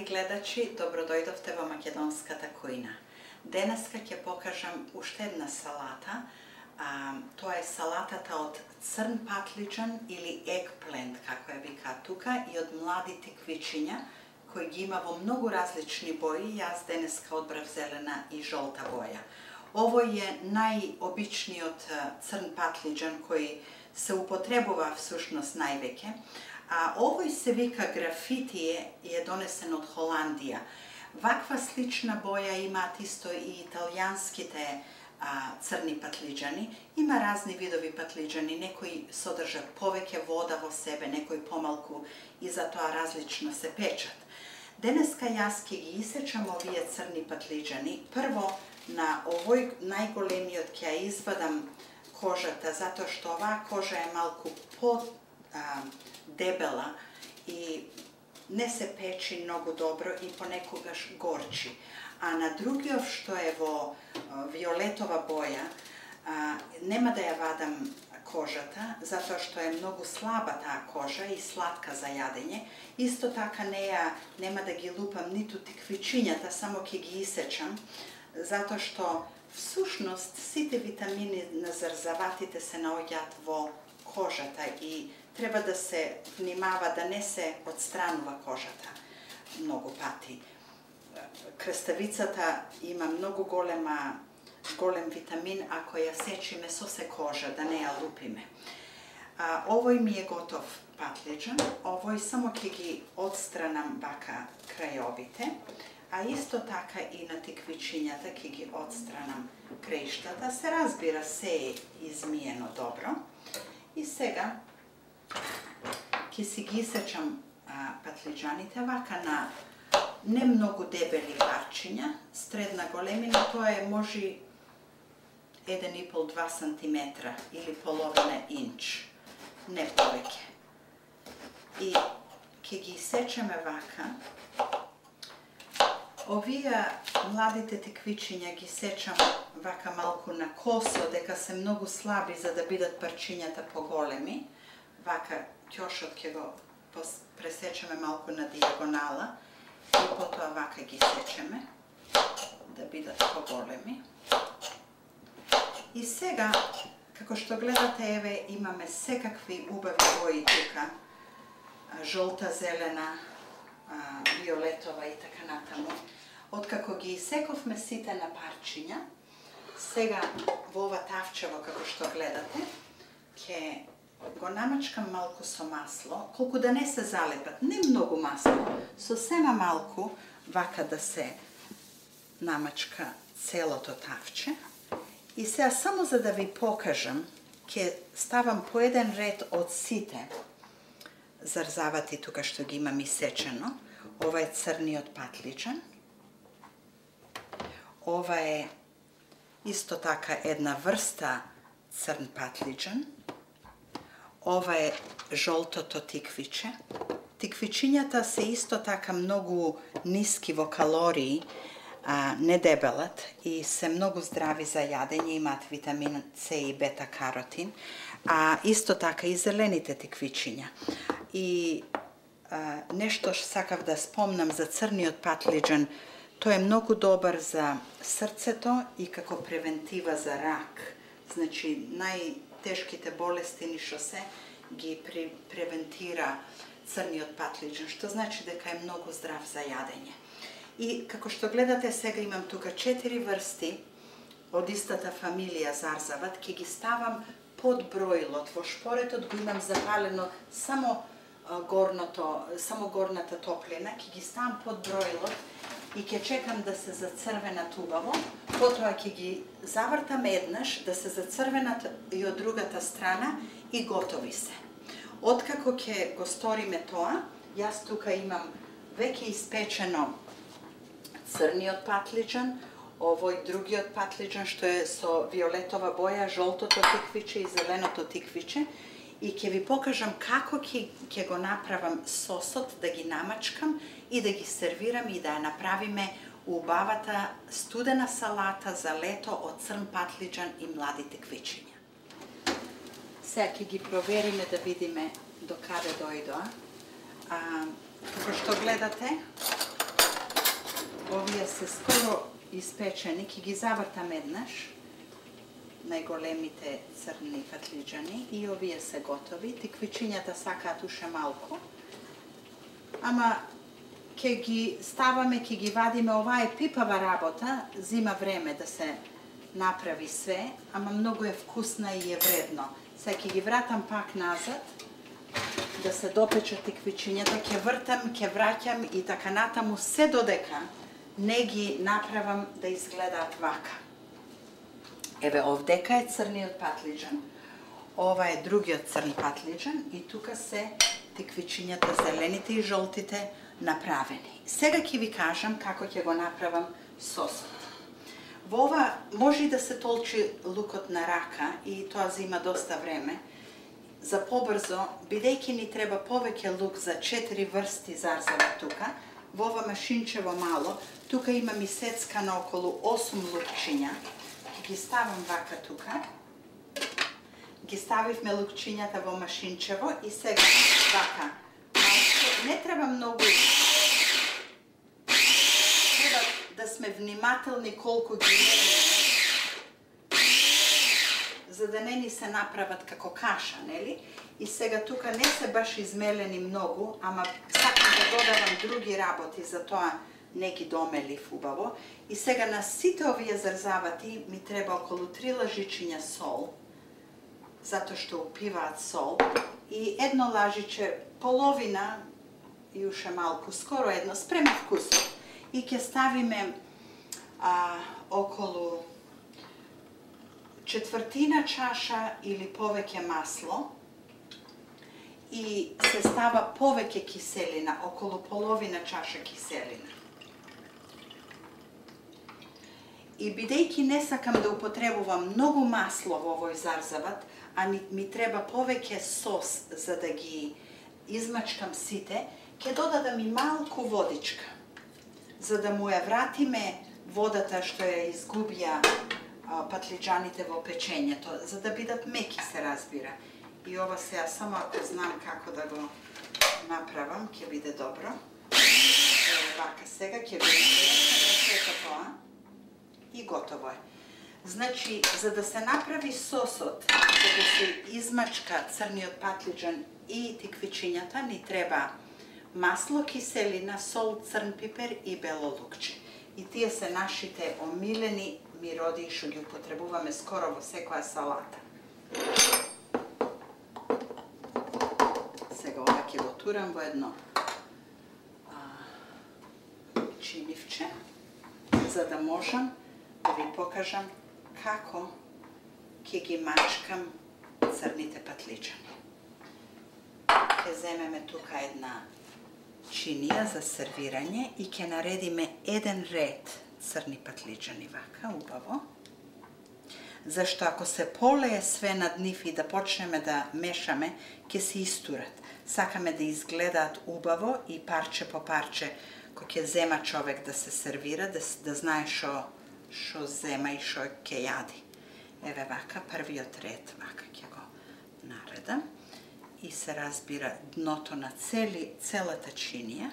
Драги гледачи, добродојдовте во Македонската кујна. Денеска ќе покажам уште една салата. Тоа е салатата од црн патлиџан или eggplant, како ја викаат тука, и од млади тиквичиња, кои ги има во многу различни бои. Јас денеска одбрав зелена и жолта боја. Овој е најобичниот црн патлиџан кој се употребува всушност највеќе. Овој се вика графитие и е донесен од Холандија. Ваква слична боја имаат исто и италијанските црни патлиџани. Има разни видови патлиџани, некои содржат повеќе вода во себе, некои помалку и затоа различно се печат. Денеска јас ќе ги исечам овие црни патлиџани. Прво на овој најголемиот ќе ја извадам кожата, затоа што оваа кожа е малку дебела и не се печи многу добро и понекогаш горчи. А на другиот што е во виолетова боја, нема да ја вадам кожата, затоа што е многу слаба таа кожа и сладка за јадење. Исто така нема да ги лупам ниту тиквичињата, само ќе ги исечам, затоа што всушност сите витамини на зарзаватите се наоѓаат во кожата и треба да се внимава да не се отстранува кожата многу пати. Краставицата има многу голем витамин ако ја сечиме со се кожа, да не ја лупиме. Овој ми е готов патлиџан, овој само ќе ги отстранам вака крајовите, а исто така и на тиквичињата ќе ги отстранам краиштата. Се разбира, се е измиено добро. И сега ќе си ги исечам патлиџаните вака на не многу дебели парчиња, средна големина, тоа е може 1,5-2 сантиметра или половина инч, не повеќе. И ќе ги исечеме вака. Овие младите тиквичиња ги сечам вака малку на косо, дека се многу слаби за да бидат парчињата поголеми. Вака ќошот ќе го пресечеме малку на дијагонала и потоа вака ги сечеме да бидат поголеми. И сега, како што гледате, еве имаме секакви убави бои тука, жолта, зелена, виолетова и така натаму. Откако ги исековме сите на парчиња, сега во ова тавчево, како што гледате, ќе го намачкам малку со масло, колку да не се залепат, не многу масло, сосема малку, вака да се намачка целото тавче. И сега само за да ви покажам, ќе ставам по еден ред од сите зарзавати тука што ги имам исечено. Ова е црниот патлиџан. Ова е исто така една врста црн патлиџан. Ова е жолтото тиквиче. Тиквичињата се исто така многу ниски во калории, не дебелат и се многу здрави за јадење, имаат витамин С и бета-каротин, а исто така и зелените тиквичиња. И нешто што сакав да спомнам за црниот патлиџан, тој е многу добар за срцето и како превентива за рак. Значи, најтешките болести ни што се ги превентира црниот патлиџан, што значи дека е многу здрав за јадење. И како што гледате, сега имам тука 4 врсти од истата фамилија зарзават, ќе ги ставам под броилот. Во шпоретот го имам запалено само горната топлина, ќе ги ставам под броилот и ќе чекам да се зацрвенат убаво, потоа ќе ги завртам еднаш да се зацрвенат и од другата страна и готови се. Откако ќе го сториме тоа, јас тука имам веќе испечено црниот патлиџан, овој другиот патлиџан што е со виолетова боја, жолтото тиквиче и зеленото тиквиче, и ќе ви покажам како ќе го направам сосот, да ги намачкам и да ги сервирам и да ја направиме убавата студена салата за лето од црн патлиџан и млади тиквичиња. Сега ќе ги провериме да видиме до каде дојдоа. Како што гледате, овие се скоро испечени, ќе ги завртам еднаш, најголемите црни патлиџани, и овие се готови. Тиквичињата сакаат уште малку, ама ќе ги ставаме, ќе ги вадиме. Ова е пипава работа, зима време да се направи све, ама многу е вкусна и е вредно. Сега ќе ги вратам пак назад, да се допечат тиквичињата, ќе вртам, ќе враќам и така натаму, се додека не ги направам да изгледаат вака. Еве, овдека е црниот патлиџан, ова е другиот црн патлиџан и тука се тиквичињата, зелените и жолтите, направени. Сега ќе ви кажам како ќе го направам сосот. Во ова може да се толчи лукот на рака и тоа зима доста време. За побрзо, бидејќи ни треба повеќе лук за 4 врсти зарзава тука, во ова машинчево мало, тука имам и сецкано околу 8 лукчиња. Ги ставам вака тука. Ги ставивме лукчињата во машинчево и сега вака. Не треба многу. Треба да сме внимателни колку ги мериме, за да не ни се направат како каша, нели? И сега тука не се баш измелени многу, ама сакам да додавам други работи, затоа не ги домелив убаво. И сега на сите овие зарзавати ми треба околу 3 лажичиња сол, затоа што упиваат сол, и едно лажиче, половина и уште малку, скоро едно, спрема вкусот. И ќе ставиме околу четвртина чаша или повеќе масло и се става повеќе киселина, околу половина чаша киселина. И бидејќи не сакам да употребувам многу масло во овој зарзават, а ми треба повеќе сос за да ги измачкам сите, ќе додадам и малку водичка, за да му ја вратиме водата што ја изгубија патлиџаните во печењето, за да бидат меки, се разбира. И ова сега само ако знам како да го направам, ќе биде добро. Вака сега ќе биде тоа и готово е. Значи, за да се направи сосот, за да се измачка црниот патлиџан и тиквичињата, ни треба масло, киселина, сол, црн пипер и бело лукче. И тие се нашите омилени мироди што ги употребуваме скоро во секоја салата. Сега ова ќе го турам во едно чинивче, за да можам да ви покажам како ќе ги мачкам црните патлиџани. Ќе земеме тука една чинија за сервирање и ќе наредиме еден ред црни патлиџани вака, убаво. Зашто ако се полее све над нив и да почнеме да мешаме, ќе се истурат. Сакаме да изгледаат убаво и парче по парче, кој ќе зема човек да се сервира, да знае шо зема и шо ќе јади. Еве вака, првиот ред, вака ќе го наредам. И се разбира дното на целата чинија,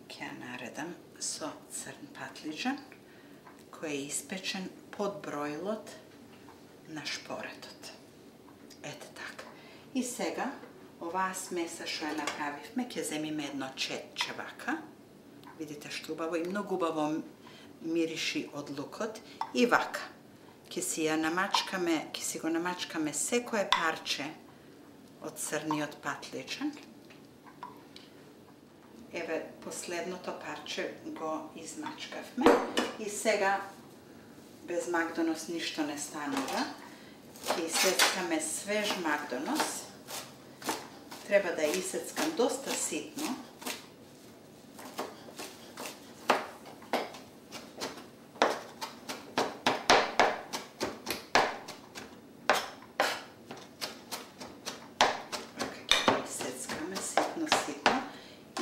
ќе ја наредам со црн патлиџан, кој е испечен под броилот на шпоретот. Ете така. И сега, оваа смеса што ја направивме, ќе земиме едно четче вака. Видите што убаво и многу убаво мириши од лукот. И вака. Ќе си го намачкаме секое парче од црниот патлиџан. Еве, последното парче го измачкавме. И сега, без макдонос ништо не станува. Ќе исецкаме свеж макдонос. Треба да ја исецкам доста ситно.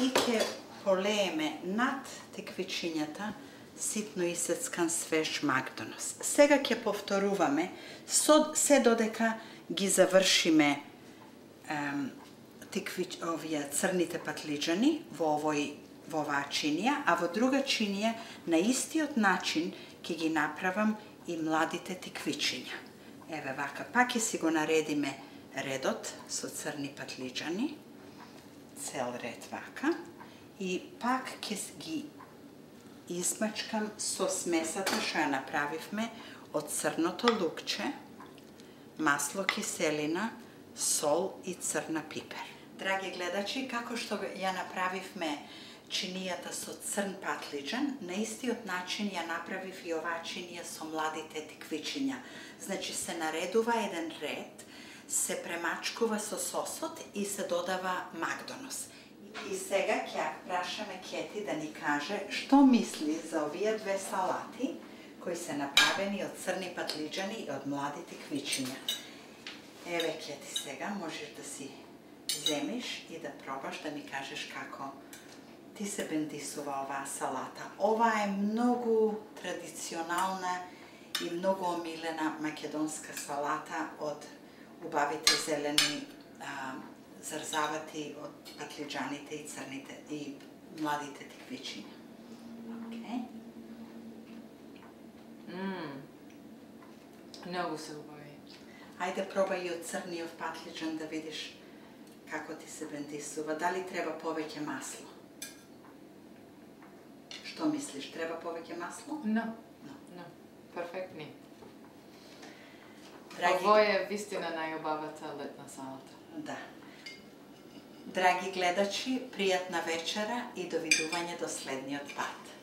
И ќе полееме над тиквичињата ситно исецкан свеж макдонос. Сега ќе повторуваме се додека ги завршиме овие црните патлиџани во овој во оваа чинија, а во друга чинија на истиот начин ќе ги направам и младите тиквичиња. Еве вака, пак ќе си го наредиме редот со црни патлиџани, цел ред вака, и пак ќе ги измачкам со смесата што ја направивме од црното лукче, масло киселина, сол и црна пипер. Драги гледачи, како што ја направивме чинијата со црн патлиџан, на истиот начин ја направив и оваа чинија со младите тиквичиња. Значи се наредува еден ред, се премачкува со сосот и се додава макдонос. И сега ќе ја прашаме Кети да ни каже што мисли за овие две салати кои се направени од црни патлиџани и од млади тиквичиња. Еве Кети, сега можеш да си земиш и да пробаш да ми кажеш како ти се бендисува оваа салата. Ова е многу традиционална и многу омилена македонска салата од убавите зелени зарзавати од патлиџаните и црните и младите тиквичиња. Океј. Многу се убави. Ајде пробај и од црниот патлиџан да видиш како ти се бендисува. Дали треба повеќе масло? Што мислиш, треба повеќе масло? No. Перфектни. Драги... Ово е вистина најубавата летна салата. Да. Драги гледачи, пријатна вечера и довидување до следниот пат.